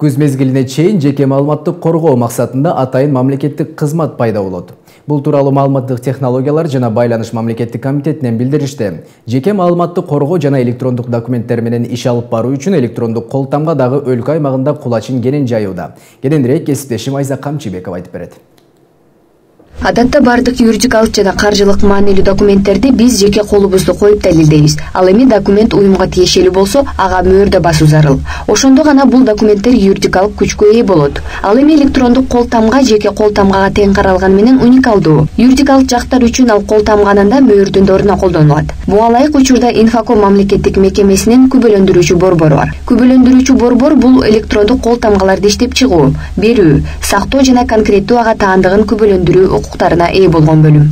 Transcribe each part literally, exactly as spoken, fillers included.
Күз мезгилине чейин жеке маалыматтык коргоо максатында атайын мамлекеттик кызмат пайда болот. Бул тууралуу маалыматтык технологиялар жана байланыш мамлекеттик комитетинен билдиришти. Жеке маалыматтык коргоо жана электрондук документтер менен иш алып баруу үчүн электрондук кол тамга дагы өлкө аймагында кулачин кенен жайууда. Кененирээк кесиптешим Айза Камчыбекова айтып берет. Адатта бардык юридикалык жана каржылык маанилүү документтерди биз жеке колубузду коюп далилдейбиз. Ал эми документ уюмга тиешелүү болсо, ага мөөрдө басуу зарыл. Ошондо гана бул документтер юридикалык күчкө ээ болот. Ал эми электрондук кол тамга жеке кол тамгага тең каралганы менен уникалдуу. Юридикалык жактар үчүн ал кол тамганын да мөөрдүн ордуна колдонулат. Буга ылайык учурда Инфоком мамлекеттик мекемесинин күбөлөндүрүүчү борбору бар. Күбөлөндүрүүчү борбор бул электрондук кол тамгаларды иштеп чыгуу, берүү, сактоо жана конкреттүү ага таандыгын күбөлөндүрүү укуктарына ээ болгон бөлүм.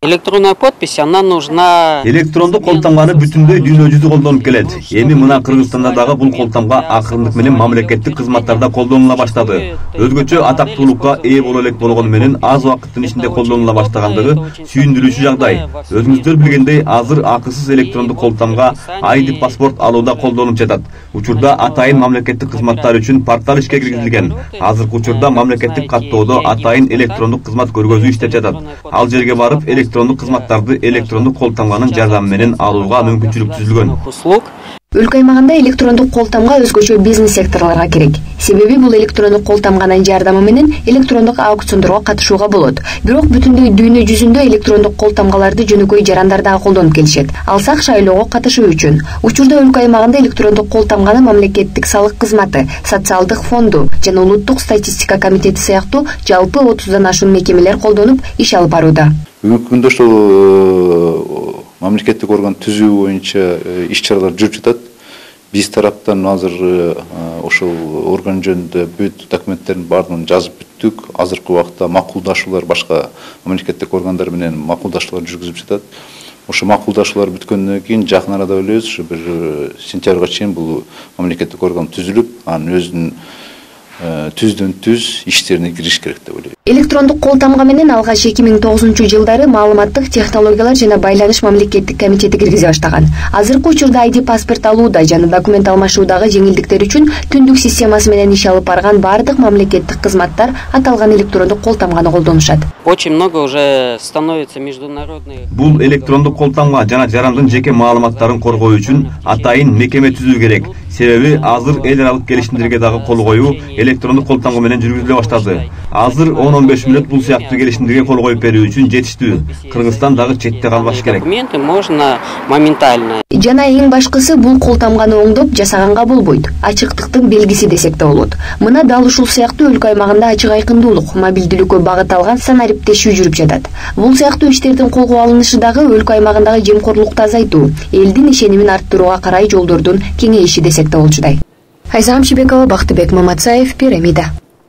Электронная подпись, она нужна. Электрондук колтамганы бүтүндөй дүйнө жүзү колдонуп келет. Эми мына Кыргызстанда дагы бул колтамга акырындык менен мамлекеттик кызматтарда колдонула баштады. Өзгөчө атактуулукка ээ боло элек болгону менен аз убакыттын ичинде колдонула баштагандыгы сүйүндүрүүчү жагдай. Өзүңүздөр билгендей, азыр акысыз электрондук колтамга ай ди паспорт алууда колдонуп жатат. Учурда атайын мамлекеттик кызматтар үчүн портал ишке киргизилген. Азыркы учурда мамлекеттик каттоодо атайын электрондук кызмат көргөзүү иштеп жатат. Ал жерге барып электрондук кызматтарды электрондук кол тамганын жардамы менен алууга мүмкүнчүлүк түзүлгөн. Өлкө аймагында электрондук кол тамга өзгөчө бизнес секторлорго керек. Себеби бул электрондук кол тамганын жардамы менен электрондук аукциондорго катышууга болот. Бирок бүтүндөй дүйнө жүзүндө электрондук кол тамгаларды жөнөкөй жарандар дагы колдонуп келишет. Алсак шайлоого катышуу үчүн. Учурда өлкө аймагында электрондук кол тамганы мамлекеттик салык кызматы, социалдык фонду жана улуттук статистика комитети сыяктуу жалпы отуздан ашуун мекемелер колдонуп иш алып барууда. Бүгүнкү күндө ошол мамлекеттик орган түзүү боюнча иш чаралар жүрүп жатат. Биз тараптан азыр ошол орган жөнүндө бүт документтердин баардыгын жазып бүттүк. Азыркы убакта макулдашуулар башка мамлекеттик органдар менен макулдашуулар жүргүзүп жатат. Ошо макулдашуулар бүткөндөн кийин жакын арада ойлойбуз, ушу бир сентябрга чейин бул мамлекеттик орган түзүлүп, анын өзүнүн түздөн түз иштерине кириш керек деп ойлойм. Электрондук кол тамга менен алгач эки миң тогузунчу жылдары маалыматтык технологиялар жана байланыш мамлекеттик комитети киргизе баштаган. Азыркы учурда ай ди паспорт алууда жана документ алмашуудагы жеңилдиктер үчүн түндүк системасы менен иш алып барган бардык мамлекеттик кызматтар аталган электрондук кол тамганы колдонушат. Очень много уже становится международный. Бул электрондук кол тамга жана жарандын жеке маалыматтарын коргоо үчүн атайын мекеме түзүү керек. Себеби азыр эл аралык келишимдерге дагы кол коюу электрондук кол тамга менен жүргүзүлө баштады. Азыр он он беш мүнөт бул сыяктуу келишимдерге кол коюп берүү үчүн жетиштүү. Кыргызстан дагы четте калбаш керек. Документы можно моментально. Жана эң башкысы бул кол тамганы оңдоп жасаганга болбойт. Ачыктыктын белгиси десек да болот. Мына дал ушул сыяктуу өлкө аймагында ачык айкындуулук, мобилдүүлүккө багыт алган санариптешүү жүрүп жатат. Бул сыяктуу иштердин колго алынышы дагы өлкө аймагындагы жемкорлукту азайтуу, элдин ишенимин арттырууга карай жолдордун кеңейиши десек да болчудай. Айза Камчыбекова, Бактыбек Маматсаев, Пирамида.